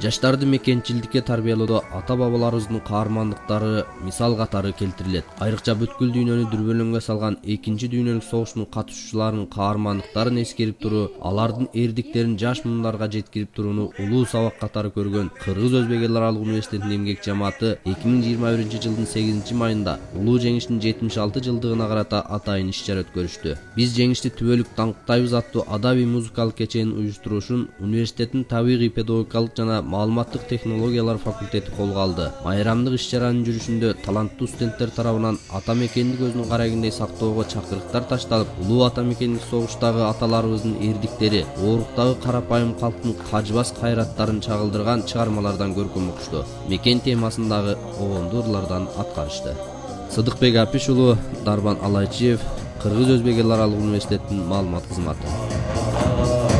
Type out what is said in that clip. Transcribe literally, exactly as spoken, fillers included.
Жаштарды мекенчилдикке тарбиялоодо ата-бабаларыбыздын каармандыктары мисал катары келтирилет. Айрыкча бүткүл дүйнөнү дүрбөлөңгө салган экинчи дүйнөлүк согуштун катышуучуларынын каармандыктарын эскерип туруу, алардын эрдиктерин жаш муундарга жеткирип турууну улуу сабак катары көргөн Кыргыз Өзбек эл аралык университетинин эмгек жамааты эки миң жыйырма биринчи жылдын сегизинчи майында улуу жеңиштин жетимиш алты жылдыгына карата атайын иш-чара өткөрүштү. Биз жеңишти түбөлүк даңктайбыз аттуу адабий музыкалык кеченин уюштуруушун университеттин табигый педагогикалык жана маалыматтык технологиялар факультети колго алды. Майрамдык иш-чаранын жүрүшүндө таланттуу студенттер тарабынан ата мекенди көздүн карагендей сактоого чакырыктар ташталып, улуу ата мекендик согуштагы аталарыбыздын эрдиктери, ооруктагы карапайым калктын кажыбас кайраттарын чагылдырган чыгармалардан көркөм окушту. Мекен темасындагы обондуу ырлардан аткарышты. Сыдыкбек Апиш уулу, Дарбан Алайчиев, Кыргыз Өзбек эл аралык университетинин маалымат кызматы.